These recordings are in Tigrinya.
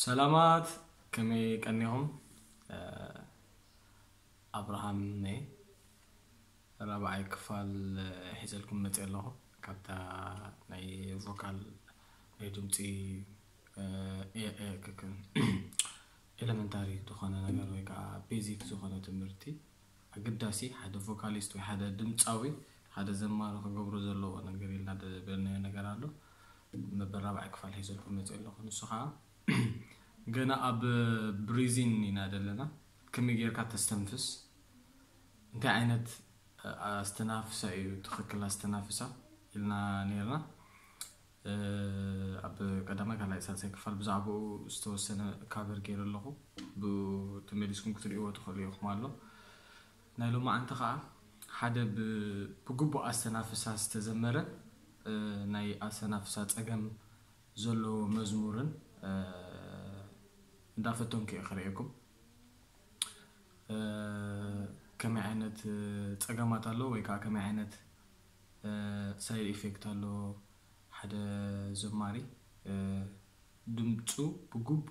ሰላማት፣ ከመይ ቀኒኹም? ኣብርሃም ነይ ራብዓይ ክፋል ሒዘልኩም መፅእ ኣለኹ። ካብታ ናይ ቮካል ናይ ድምፂ ኤለመንታሪ ዝኾነ ነገር ወይ ከዓ ቤዚክ ዝኾነ ትምህርቲ ኣገዳሲ ሓደ ቮካሊስት ወይ ሓደ ድምፃዊ ሓደ ዘማሪ ክገብሮ ዘለዎ ነገር ኢልና ዝበልናዮ ነገር ኣሎ። መበል ራብዓይ ክፋል ሒዘልኩም መፅእ ኣለኹ። ንሱ ከዓ ገና ኣብ ብሪዚን ኢና ዘለና። ከመይ ጌርካ ተስተንፍስ፣ እንታይ ዓይነት ኣስተናፍሳ እዩ ትኽክል ኣስተናፍሳ ኢልና ነርና። ኣብ ቀዳማይ ካልኣይ ሳልሳይ ክፋል ብዛዕባኡ ዝተወሰነ ካቨር ገይረ ኣለኹ። ብኡ ተመሊስኩም ክትርእይዎ ትኽእሉ ኢኹም ኣሎ። ናይ ሎማዓንቲ ከዓ ሓደ ብግቡእ ኣስተናፍሳ ዝተዘመረ ናይ ኣስተናፍሳ ፀገም ዘለዎ መዝሙርን እንዳፈተንኩ እየ ክርእየኩም። ከመይ ዓይነት ፀገማት ኣለዎ ወይ ከዓ ከመይ ዓይነት ሳይድ ኢፌክት ኣለዎ ሓደ ዘማሪ ድምፁ ብግቡእ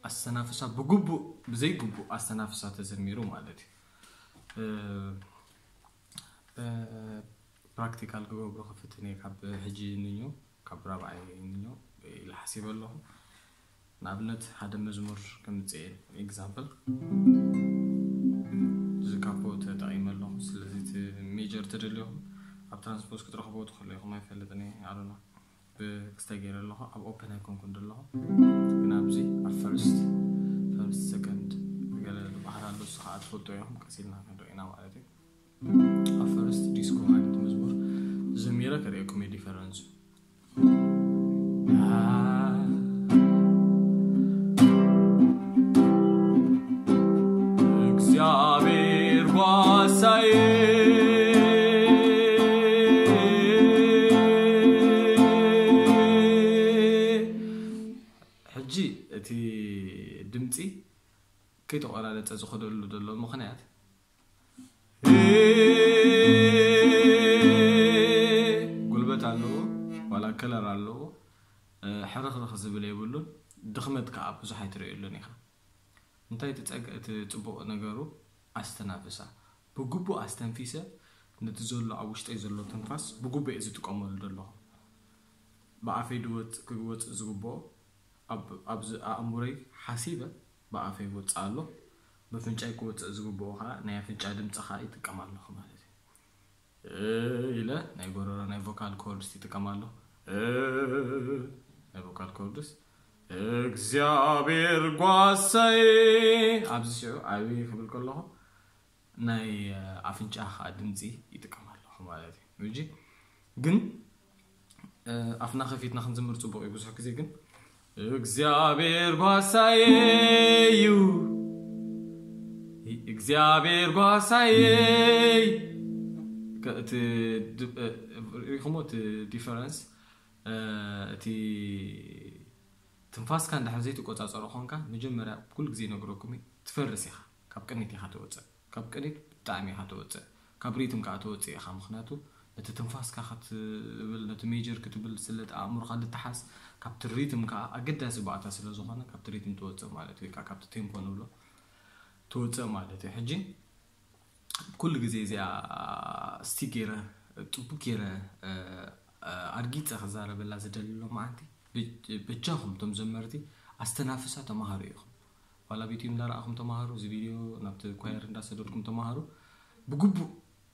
ኣስተናፍሳ ብግቡእ ብዘይግቡእ ኣስተናፍሳ ተዘሚሩ ማለት እዩ። ፕራክቲካል ክገብሮ ክፍትን እየ ካብ ሕጂ ንዮ ካብ ራብዓይ ንዮ ኢለ ሓሲበ ኣለኹ። ንኣብነት ሓደ መዝሙር ከምፅእ እየ ኤግዛምፕል ዝካፖ ተጠቒመ ኣለኹ። ስለዚ እቲ ሜጀር ተደልኹም ኣብ ትራንስፖዝ ክትረኽቦ ትኽእሉ ኢኹም ኣይፈልጥን እየ ኣሉና። ብክስታይ ገይረ ኣለኹ ኣብ ኦፕን ኣይኮንኩን ዘለኹ ግን ኣብዚ ኣብ ፈርስት ፈርስት ሰከንድ ገለ ዝበሃል ኣሎ እሱ ከዓ ትፈልጦ ኢኹም ቀሲልና ክንሪኦ ኢና ማለት እዩ። ኣብ ፈርስት ዲስኮ ዓይነት መዝሙር ዘሚረ ከርእየኩም እየ ዲፈረንሱ። እግዚኣብሔር ጓሳዬ ሕጂ እቲ ድምፂ ከይተቆራረፀ ዝኸደሉ ዘሎ ምኽንያት ጉልበት ኣለዎ ዋላ ከለር ኣለዎ ሕርኽርኽ ዝብል የብሉን። ድኽመት ከዓ ብዙሕ ኣይትርእየሉን ኢኻ። እንታይ እቲ ፅቡቕ ነገሩ ኣስተናፍሳ ብግቡእ ኣስተንፊሰ ነቲ ዘሎ ኣብ ውሽጠይ ዘሎ ትንፋስ ብግቡእ እየ ዝጥቀመሉ ዘለኹ። ብኣፈይ ክወፅእ ዝግብኦ ኣብዚ ኣእምሮይ ሓሲበ ብኣፈይ ይወፅእ ኣሎ። በፍንጫይ ክወፅእ ዝግብኦ ከዓ ናይ ኣፍንጫ ድምፂ ከዓ ይጥቀም ኣለኹ ማለት እዩ። ኢለ ናይ ጎረሮ ናይ ቮካል ኮርድስ ይጥቀም ኣለኹ። ናይ ቮካል ኮርድስ እግዚኣብሔር ጓሳዬ ኣብዚ ሽዑ ዓብዪ ክብል ከለኹ ናይ ኣፍንጫ ከዓ ድምፂ ይጥቀም ኣለኹ ማለት እዩ። ግን ኣፍና ከፊትና ክንዝምር ፅቡቅ እዩ። ብዙሕ ግዜ ግን እግዚኣብሔር ጓሳዬ እዩ፣ እግዚኣብሔር ጓሳዬ ሪኢኹሞ እቲ ዲፈረንስ እቲ ትንፋስካ እንድሕር ዘይትቆፃፀሮ ኮንካ መጀመርያ ኩሉ ግዜ ይነግረኩም እዩ ትፈርስ ኢኻ። ካብ ቅኒት ኢኻ ትወፅእ፣ ካብ ቅኒት ብጣዕሚ ኢኻ ትወፅእ፣ ካብ ሪትም ከዓ ትወፅእ ኢኻ። ምክንያቱ ነቲ ትንፋስካ ክትብል ነቲ ሜጀር ክትብል ስለ ኣእምሮካ ልተሓዝ ካብቲ ሪትም ከዓ ኣገዳሲ ባእታ ስለ ዝኾነ ካብቲ ሪትም ትወፅእ ማለት ወይ ከዓ ካብቲ ቴምፖ ንብሎ ትወፅእ ማለት እዩ። ሕጂ ኩሉ ግዜ እዚኣ እስቲ ገይረ ጥቡቅ ገይረ ኣርጊፀ ክዛረበላ ዝደሊ ሎማዓንቲ በጃኹም እቶም ዘመርቲ ኣስተናፍሳ ተማሃሩ ኢኹም። ዋላ ቪድዮ እንዳረኣኹም ተማሃሩ፣ እዚ ቪድዮ ናብቲ ኳየር እንዳሰደድኩም ተማሃሩ። ብግቡእ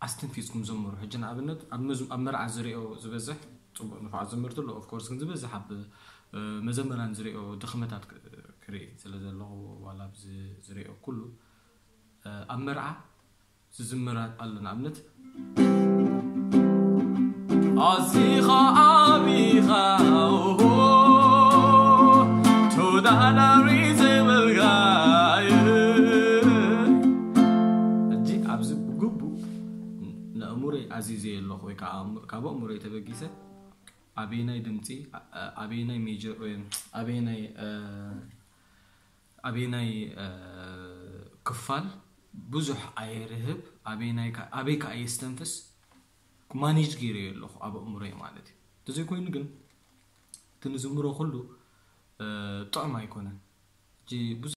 ኣስተንፊስኩም ዘምሩ። ሕጂ ንኣብነት ኣብ መርዓ ዝሪኦ ዝበዝሕ ፅቡቅ ንፋዓት ዘመርቲ ኣሎ ኦፍኮርስ ግን ዝበዝሕ ኣብ መዘመራን ዝሪኦ ድኽመታት ክርኢ ስለ ዘለኹ ዋላ ኣብዚ ዝሪኦ ኩሉ ኣብ መርዓ ዝዝመር ኣሎ ንኣብነት ኣዚኻ ዓቢኻ ተወዳዳሪ ዘይብልካ ሕጂ ኣብዚ ብግቡእ ንእሙረይ ኣዚዘ ኣለኹ ወይ ከዓ ካብ ኣእምሮይ ተበጊሰ ኣበየናይ ድምፂ ኣበየናይ ሜጀር ኣበየናይ ኣበየናይ ክፋል ብዙሕ ኣየርህብ ኣበይ ከዓ የስተንፍስ ማኔጅ ገይረዮ ኣለኹ ኣብ ኣእምሮይ ማለት እዩ። እንተዘይኮይኑ ግን እቲ ንዝምሮ ኩሉ ጥዑም ኣይኮነን። ብዙ